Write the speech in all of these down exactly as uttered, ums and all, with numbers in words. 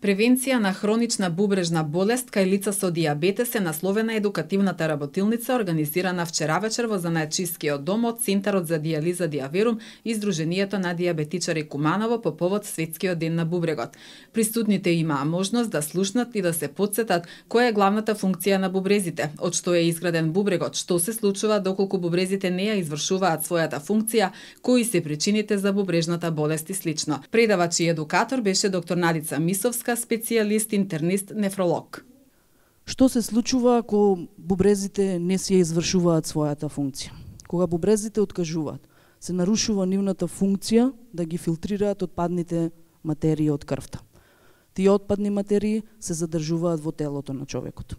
Превенција на хронична бубрежна болест кај лица со дијабетес е насловена едукативната работилница организирана вчера вечер во Занаетчискиот дом од Центарот за дијализа Дијаверум и Сдруженијето на дијабетичари Куманово по повод Светскиот ден на бубрегот. Присутните имаа можност да слушнат и да се потсетат која е главната функција на бубрезите, од што е изграден бубрегот, што се случува доколку бубрезите не ја извршуваат својата функција, кои се причините за бубрежната болест и слично. Предавач и едукатор беше доктор Надица Мисовска, специјалист интернист нефролог. Што се случува ако бубрезите не си ја извршуваат својата функција? Кога бубрезите откажуваат, се нарушува нивната функција да ги филтрираат отпадните материи од крвта. Тие отпадни материи се задржуваат во телото на човекот.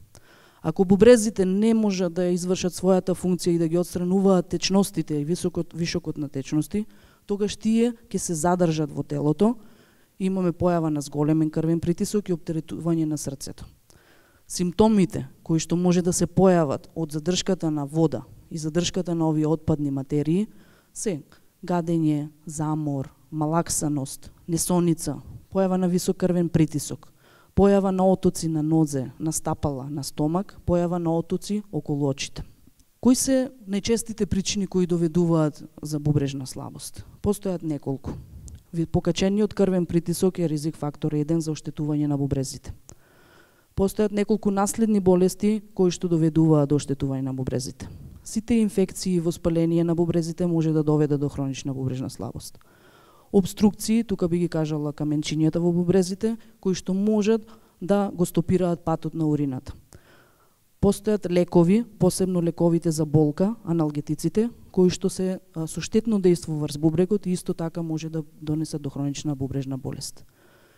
Ако бубрезите не можат да ја извршат својата функција и да ги отстрануваат течностите и високот, вишокот на течности, тогаш тие ќе се задржат во телото. Имаме појава на зголемен крвен притисок и оптеретување на срцето. Симптомите кои што може да се појават од задршката на вода и задршката на овие отпадни материи се гадење, замор, малаксаност, несоница, појава на висок крвен притисок, појава на отоци на нозе, на стапала, на стомак, појава на отоци околу очите. Кои се најчестите причини кои доведуваат за бубрежна слабост? Постојат неколку. Покачениот крвен притисок е ризик фактор еден за оштетување на бубрезите. Постојат неколку наследни болести кои што доведуваат до оштетување на бубрезите. Сите инфекции и воспаление на бубрезите може да доведат до хронична бубрежна слабост. Обструкции, тука би ги кажала каменчињата во бубрезите, кои што можат да го стопираат патот на урината. Постојат лекови, посебно лековите за болка, аналгетиците, кои што се со штетно дејство врз бубрегот и исто така може да донесат до хронична бубрежна болест.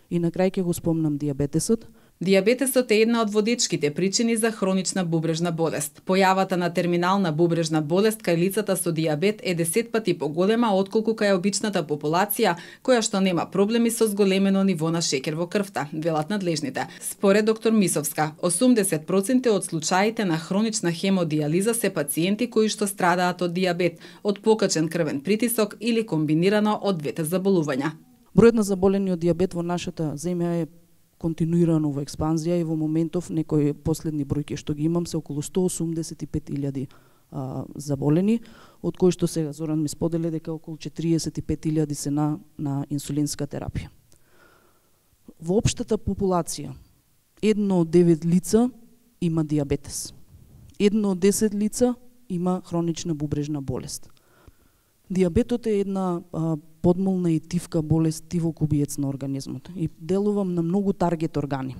И на крај ќе го спомнам дијабетесот. Дијабетесот е една од водечките причини за хронична бубрежна болест. Појавата на терминална бубрежна болест кај лицата со дијабет е десет пати поголема отколку кај обичната популација, која што нема проблеми со зголемено ниво на шеќер во крвта, велат надлежните. Според доктор Мисовска, осумдесет проценти од случаите на хронична хемодијализа се пациенти кои што страдаат од дијабет, од покачен крвен притисок или комбинирано од двете заболувања. Бројот на заболени од дијабет во нашата земја е континуирано во експанзија и во моментов некои последни бројки што ги имам се околу сто осумдесет и пет илјади заболени, од кои што сега Зоран ми сподели дека околу четириесет и пет илјади се на, на инсулинска терапија. Во општата популација, едно од девет лица има дијабетес. Едно од десет лица има хронична бубрежна болест. Дијабетот е една а, подмолна и тивка болест, тивокубиец на организмот и делува на многу таргет органи.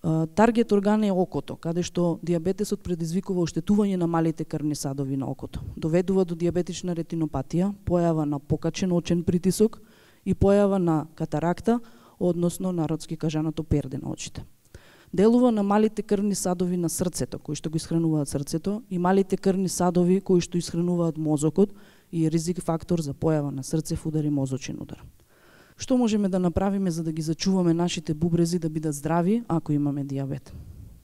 А, таргет орган е окото, каде што дијабетесот предизвикува оштетување на малите крвни садови на окото. Доведува до дијабетична ретинопатија, појава на покачен очен притисок и појава на катаракта, односно народски кажаното перде на очите. Делува на малите крвни садови на срцето, кои што го исхрануваат срцето, и малите крвни садови кои што исхрануваат мозокот и е ризик фактор за појава на срцев удар и мозочен удар. Што можеме да направиме за да ги зачуваме нашите бубрези да бидат здрави ако имаме дијабет?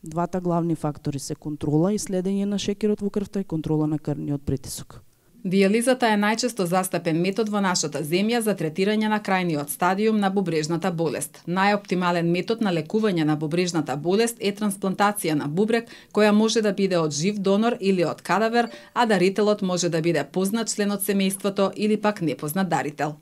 Двата главни фактори се контрола и следење на шеќерот во крвта и контрола на крвниот притисок. Дијализата е најчесто застапен метод во нашата земја за третирање на крајниот стадиум на бубрежната болест. Најоптимален метод на лекување на бубрежната болест е трансплантација на бубрег, која може да биде од жив донор или од кадавер, а дарителот може да биде познат член од семејството или пак непознат дарител.